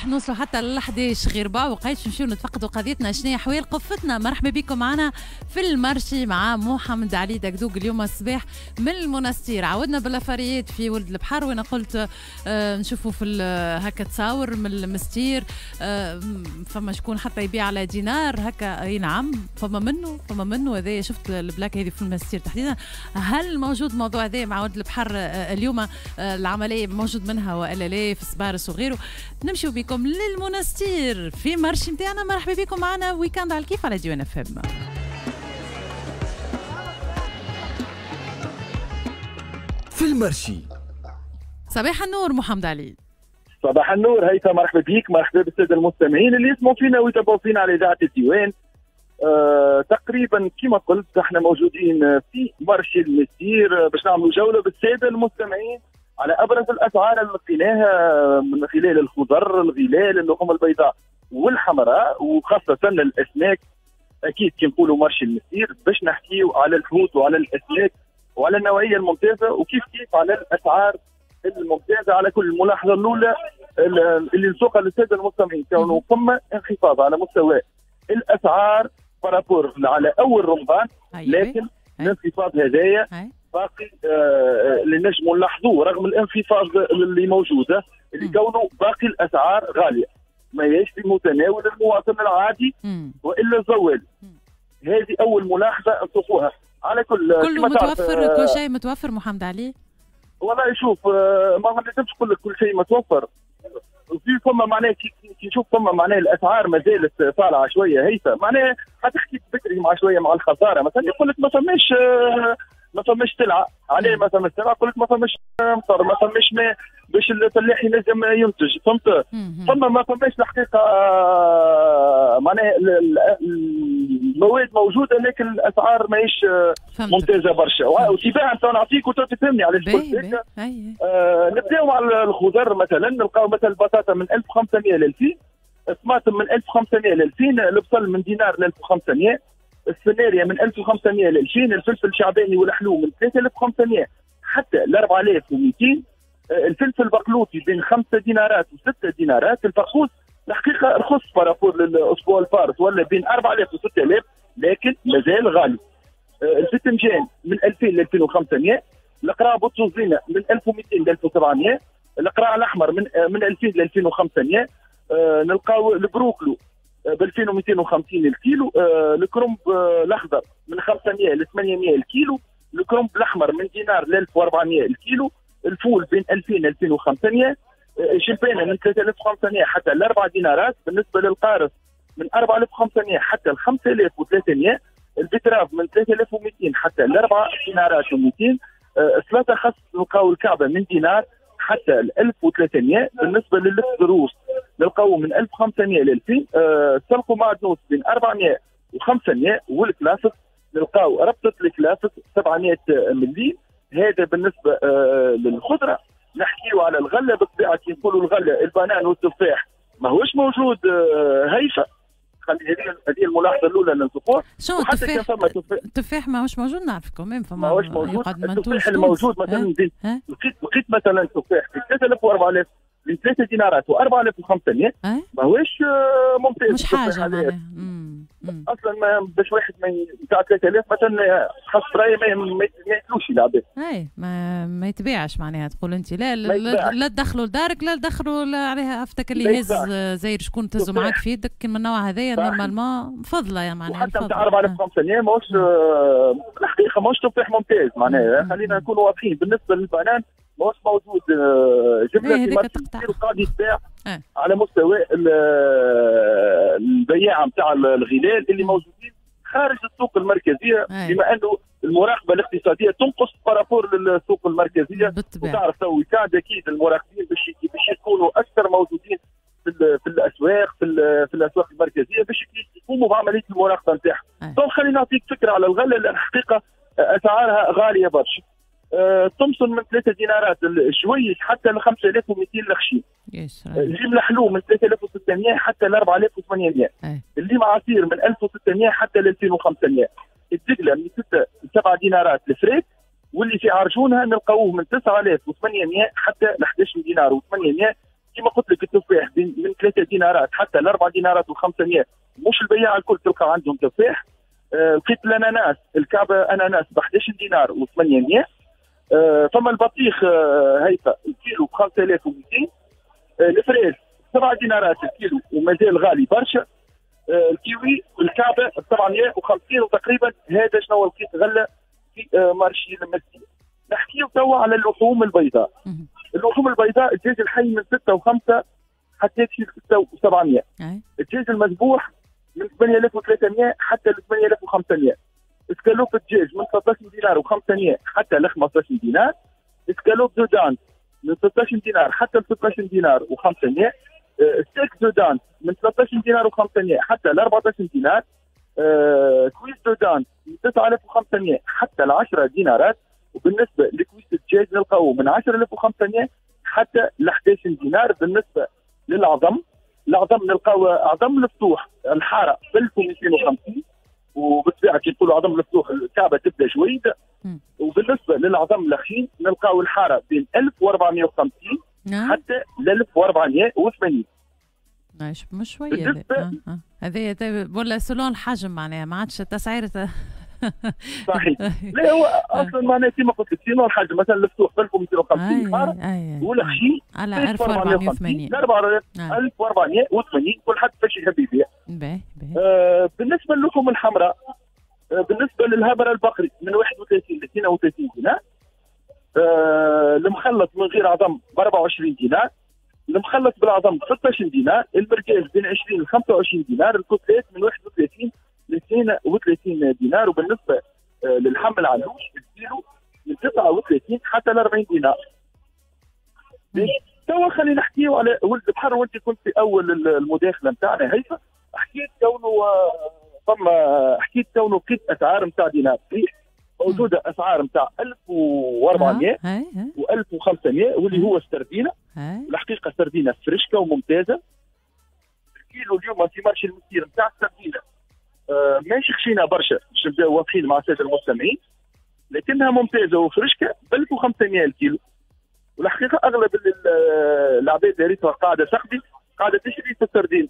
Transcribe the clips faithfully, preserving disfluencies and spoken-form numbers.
نوصلوا حتى لل احداش غير ربع وقيت نمشيو نتفقدوا قضيتنا شنو هي حوال قفتنا. مرحبا بكم معنا في ال marché مع محمد علي دقدوق اليوم الصباح من المنستير. عودنا بالافاريات في ولد البحر وانا قلت آه نشوفوا في هكا تصاور من المستير، آه فما شكون حتى يبيع على دينار هكا. اي نعم فما منه فما منه هذا، شفت ال plaque هذه في المستير تحديدا. هل موجود الموضوع هذا مع ولد البحر آه اليوم؟ آه العملية موجود منها والا لا في سبارس وغيره؟ نمشيو بكم للمنستير في marché نتاعنا. مرحبا بكم معنا week-end على الكيف على ديوان اف ام. في ال marché صباح النور محمد علي. صباح النور هيثم، مرحبا بك، مرحبا بالساده المستمعين اللي يسمعوا فينا ويتابعوا فينا على اذاعة الديوان. أه تقريبا كما قلت احنا موجودين في marché المستير باش نعملوا جولة بالساده المستمعين على ابرز الاسعار اللي لقيناها من خلال الخضر، الغلال، اللحوم البيضاء والحمراء وخاصة الاسماك. اكيد كي نقولوا marché المستير باش نحكيو على الحوت وعلى الاسماك وعلى النوعية الممتازة وكيف كيف على الاسعار الممتازة. على كل الملاحظة الاولى اللي نسوقها للسادة المستمعين كونه فما انخفاض على مستوى الاسعار par rapport على اول رمضان، لكن الانخفاض هذايا باقي آه اللي نجموا نلاحظوه رغم الانخفاض اللي موجودة اللي كونه باقي الاسعار غالية ما هيش في متناول المواطن العادي والا الزوال. هذه اول ملاحظة نشوفوها. على كل كله متوفر، آه كل شيء متوفر محمد علي؟ والله شوف آه ما نجمش نقول لك كل شيء متوفر. في فما معناها كي نشوف فما معناها الاسعار ما زالت طالعه شوية هيثم، معناها حتحكي بكري مع شوية مع الخسارة مثلا يقول لك ما فماش آه ما فماش سلعه. عليه ما فماش سلعه؟ يقول لك ما فماش مطر، ما فماش ماء باش الفلاح ينجم ينتج، فهمت؟ فما ما فماش الحقيقة معناها المواد موجودة لكن الاسعار ماهيش ممتازة برشا. وتباعا تو نعطيك وتفهمني علاش قلت هكا. آه نبداو مع الخضر مثلا، نلقاو مثلا البطاطا من ألف وخمسمية ل ألفين، الطماطم من ألف وخمسمية ل ألفين، البصل من دينار ل ألف وخمسمية، السفناريا من ألف وخمسمية ل ألفين، الفلفل الشعباني والحلو من ثلاثة آلاف وخمسمية حتى ل أربعة آلاف ومئتين، الفلفل البقلوطي بين خمسة دينارات وستة دينارات، الفقوس الحقيقة رخص par rapport للاسبوع الفارط ولا بين أربعة آلاف وستة آلاف لكن مازال غالي. الفسنجان من ألفين ل ألفين وخمسمية، القرع بوتوزينه من ألف ومئتين ل ألف وسبعمية، القرع الاحمر من من ألفين ل ألفين وخمسمية، نلقاو البروكلو ب ألفين ومئتين وخمسين الكيلو، آه الكرنب آه الاخضر من خمسمية ل ثمانمية الكيلو، الكرنب الاحمر من دينار ل ألف وأربعمية الكيلو، الفول بين ألفين ل ألفين وخمسمية، الجلبانه من ثلاثة آلاف وخمسمية حتى ل أربعة دينارات، بالنسبة للقارص من أربعة آلاف وخمسمية حتى ل خمسة آلاف وثلاثمية، ال betterave من ثلاثة آلاف ومئتين حتى ل أربعة دينارات ومئتين، السلطة خاص نلقاو الكعبة من دينار حتى ل ألف وثلاثمية، بالنسبة للفروس نلقاو من ألف وخمسمية ل ألفين، السلق ومعدنوس بين أربعمية وخمسمية، والكلافس نلقاو ربطه الكلافس سبعمية مليم. هذا بالنسبة آه للخضره. نحكيو على الغلة بالطبيعة، كي نقولوا الغلة البنان والتفاح ماهوش موجود آه هيفا. خلي هذه هذه الملاحظة الاولى اللي نشوفوها. شو التفاح؟ التفاح ماهوش موجود نعرفكم même فما ماهوش موجود. التفاح الموجود مثلا لقيت لقيت مثلا تفاح في ثلاثة آلاف وأربعة آلاف من ثلاثة دينارات و أربعة آلاف وخمسمية ماهوش ممتاز. مش حاجة معناها اصلا ما باش واحد ما نتاع ثلاثة آلاف مثلا حسب رايي ما ياكلوش العباد. اي ما, ما يتباعش معناها. تقول انت لا لا, لا تدخلوا لدارك لا تدخلوا عليها افتك اللي يهز زاير شكون تهزوا معاك في يدك من النوع هذايا normalement فضله يا معناها. وحتى نتاع أربعة آلاف وخمسمية ماهوش الحقيقة ماهوش تفاح ممتاز معناها. خلينا نكونوا واضحين. بالنسبة للبنان ماهوش موجود جملة في marché وقاعد يتباع على مستوى البياعه نتاع الغلال اللي موجودين خارج السوق المركزية، بما انه المراقبة الاقتصادية تنقص par rapport للسوق المركزية. بالطبع. وتعرف تو يساعد اكيد المراقبين باش باش يكونوا اكثر موجودين في, في الاسواق في, في الاسواق المركزية باش يقوموا بعملية المراقبة نتاعهم. donc خلينا نعطيك فكرة على الغلة لان الحقيقة اسعارها غالية برشا. تومسون من ثلاثة دينارات الشويش حتى ل خمسة آلاف ومئتين الخشين. الليم الحلو من ثلاثة آلاف وستمية حتى ل أربعة آلاف وثمانمية. الليم عصير من ألف وستمية حتى ل ألفين وخمسمية. الدقله من ستة ل سبعة دينارات الفريك، واللي في عرجونها نلقاوه من تسعة آلاف وثمانمية حتى ل أحد عشر دينار وثمانمية. كما كما قلت لك التفاح من ثلاثة دينارات حتى لأربعة دينارات وخمسمية، مش البياع الكل تلقى عندهم تفاح. آه، لقيت الاناناس، الكعبة اناناس ب أحد عشر دينار وثمانمية. آه، فما البطيخ آه، هيفا الكيلو ب خمسة آلاف ومئتين. آه، ال fraise سبعة دينارات الكيلو ومازال غالي برشا. آه، الكيوي الكعبة ب سبعمية وخمسين. وتقريبا هذا شنو لقيت غله في آه، marché المستير. نحكيو توا على اللحوم البيضاء. اللحوم البيضاء الدجاج الحي من ستة وخمسة حتى ستة وسبعمية. الدجاج المذبوح من ثمانية آلاف وثلاثمية حتى ل ثمانية آلاف وخمسمية. اسكالوب الدجاج من ثلاثة عشر دينار وخمسمية حتى ل خمسة عشر دينار. escalope de dinde من ستة عشر دينار حتى ل ستة عشر دينار وخمسمية. steak de dinde من ثلاثة عشر دينار وخمسمية حتى ل أربعة عشر دينار. cuisse de dinde من تسعة آلاف وخمسمية حتى ل عشرة دينارات. وبالنسبة ل cuisse الدجاج نلقاوه من عشرة آلاف وخمسمية حتى ل أحد عشر دينار. بالنسبة للعظم، العظم نلقاو عظم الفتوح الحارة ب ألف ومئتين وخمسين، وبالطبيعه كي نقولوا عظم الفتوح الكعبة تبدا جويده. وبالنسبة للعظم الخشين نلقاو الحارة بين ألف وأربعمية وخمسين حتى ل ألف وأربعمية وثمانين. ماشي مش شوية هذه ولا selon الحجم معناها ما عادش تسعيره. صحيح. لا هو اصلا معناها كيما قلت لك selon الحجم، مثلا الفتوح ألف ومئتين وخمسين حارة والخشين على ألف وأربعمية وثمانين ألف وأربعمية وثمانين، كل حد باش يحب يبيع. باهي باهي. آه بالنسبة للحوم الحمراء، آه بالنسبة للهبره البقري من واحد وثلاثين ل اثنين وثلاثين دينار. آه المخلط من غير عظم ب أربعة وعشرين دينار، المخلط بالعظم ب ستة عشر دينار، المركز بين عشرين ل خمسة وعشرين دينار، ال côtelette من واحد وثلاثين ل اثنين وثلاثين دينار. وبالنسبة للحم العلوش الكيلو من تسعة وثلاثين حتى ل أربعين دينار. توا خلينا نحكيو على ولد البحر، وانت كنت في اول المداخلة نتاعنا هيفا حكيت كونه فما حكيت كونه لقيت اسعار نتاع دينار صحيح موجودة، اسعار نتاع ألف وأربعمية و ألف وخمسمية واللي هو السردينه. الحقيقة السردينه فريشكه وممتازة. الكيلو اليوم في marché المستير نتاع السردينه آه ماشي خشينه برشا باش نبداو واضحين مع السادة المستمعين، لكنها ممتازة وفريشكه ب ألف وخمسمية الكيلو. والحقيقة اغلب العباد اللي ريتها قاعدة تقضي قاعدة تشري في السردين.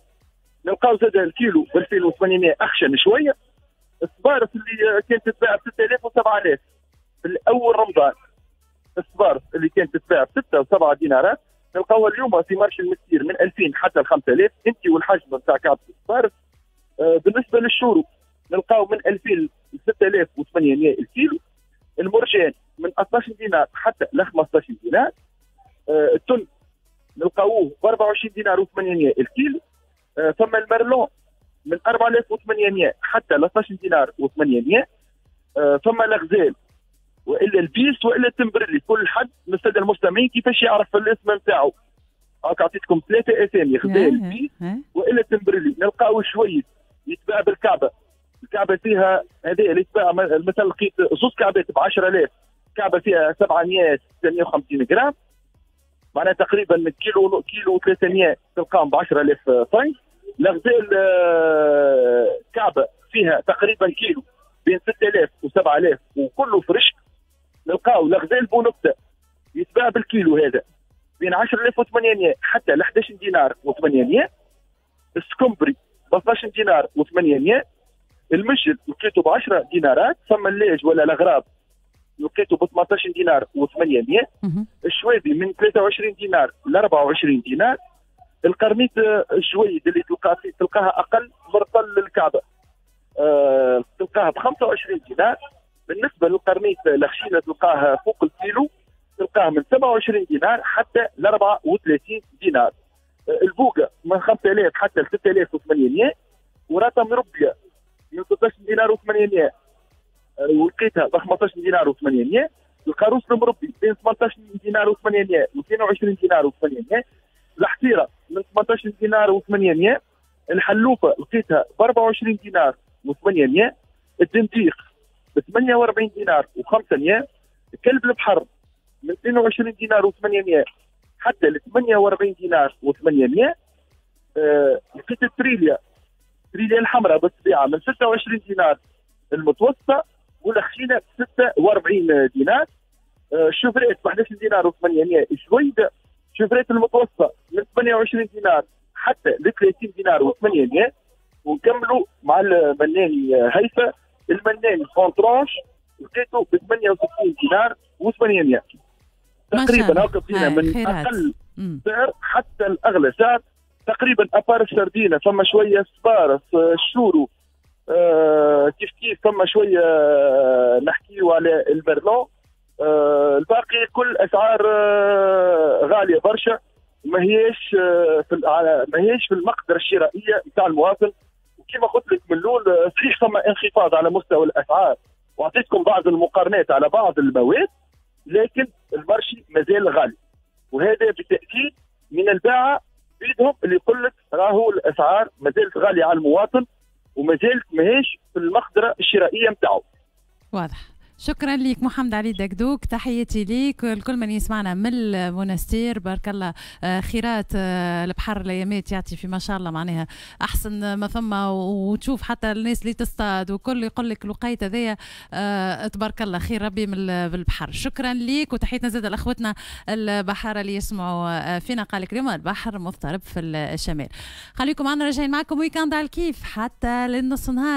نلقاو زاد الكيلو ب ألفين وثمانمية اخشن شوية. الصبارس اللي كانت تتباع ب ستة آلاف و سبعة آلاف في الاول رمضان، الصبارس اللي كانت تتباع ب ستة و سبعة دينارات نلقاوها اليوم في marché المستير من ألفين حتى ل خمسة آلاف انت والحجم نتاع كعبه الصبارس. آه بالنسبة للشورو نلقاو من ألفين ل ستة آلاف وثمانمية الكيلو. المرجان من اثناش دينار حتى ل خمسطاش دينار. آه التن نلقاوه ب أربعة وعشرين دينار وثمانمية الكيلو. آه ثم ال merlan من أربعة آلاف وثمانمية حتى ل اثناش دينار وثمانمية. آه ثم الغزال والا البيس والا التمبرلي، كل حد من السادة المستمعين كيفاش يعرف الاسم نتاعو. هاك عطيتكم ثلاثة اسامي، غزال، بيس والا التمبرلي. نلقاو شوية يتباع بالكعبة، الكعبة فيها هذه اللي يتباع مثلا لقيت زوج كعبات ب عشرة آلاف، كعبه فيها سبعمية ستمية وخمسين غرام، معناها تقريبا كيلو كيلو ثلاثمية تلقاهم ب عشرة آلاف فرنك. الغزال كعبه فيها تقريبا كيلو بين ستة آلاف و سبعة آلاف وكله فرشك. نلقاو الغزال بونكته يتباع بالكيلو هذا بين عشرة آلاف وثمانمية حتى ل أحد عشر دينار وثمانمية. السكمبري ب اثناش دينار وثمانمية. المجل لقيته ب عشرة دينارات. ثم اللاج ولا الغراب لقيته ب ثمنطاش دينار وثمانمية. الشوابي من ثلاثة وعشرين دينار ل أربعة وعشرين دينار. القرنيط الجويد اللي تلقاه تلقاها اقل مرطل للكعبة أه تلقاها ب خمسة وعشرين دينار. بالنسبة للقرنيط الخشينه تلقاها فوق الكيلو تلقاها من سبعة وعشرين دينار حتى ل أربعة وثلاثين دينار. البوقه من خمسة آلاف حتى ل ستة آلاف وثمانمية. وراتا مربيه من ستة عشر دينار وثمانمية ولقيتها ب خمسطاش دينار وثمانمية. القاروص المربي بين ثمنطاش دينار وثمانمية و اثنين وعشرين دينار وثمانمية. الحصيرة من ثمنطاش دينار وثمانمية. الحلوفه لقيتها ب أربعة وعشرين دينار وثمانمية. الدنديق ب ثمانية وأربعين دينار وخمسمية. كلب البحر من اثنين وعشرين دينار وثمانمية حتى ل ثمانية وأربعين دينار وثمانمية. أه لقيت التريليا، التريليا الحمراء بالطبيعة من ستة وعشرين دينار المتوسطة والخشينه ب ستة وأربعين دينار. أه ال chevrette ب أحد عشر دينار وثمانمية. الجويده chevrette المتوسطة من ثمانية وعشرين دينار حتى ل ثلاثين دينار وثمانمية. ونكملوا مع المناني هيفا، المناني en tranches لقيته ب ثمانية وستين دينار وثمانمية تقريبا. هكا فينا من اقل سعر حتى الاغلى سعر تقريبا. à part السردينه فما شوية سبارس، الشورو آه كيف كيف، فما شوية نحكيو على ال merlan. آه الباقي كل اسعار آه غالية برشا، ما هيش آه في ما هيش في المقدرة الشرائية نتاع المواطن. وكما قلت لك من الاول، صحيح فما انخفاض على مستوى الاسعار واعطيتكم بعض المقارنات على بعض المواد، لكن ال marché مازال غالي، وهذا بالتاكيد من الباعه بيدهم اللي يقول لك راهو الاسعار مازالت غالية على المواطن ومازالت ماهيش في المقدرة الشرائية نتاعو. واضح. شكرا لك محمد علي دقدوق، تحياتي ليك لكل من يسمعنا من المونستير. بارك الله، آه، خيرات آه، البحر الايامات يعطي في ما شاء الله، معناها احسن ما ثم، وتشوف حتى الناس اللي تصطاد وكل يقول لك الوقيت هذايا آه، تبارك الله خير ربي من البحر. شكرا ليك وتحياتنا زاد لاخوتنا البحارة اللي يسمعوا فينا. قال لك اليوم البحر مضطرب في الشمال. خليكم معنا، راجعين معكم week-end على الكيف حتى للنص نهار.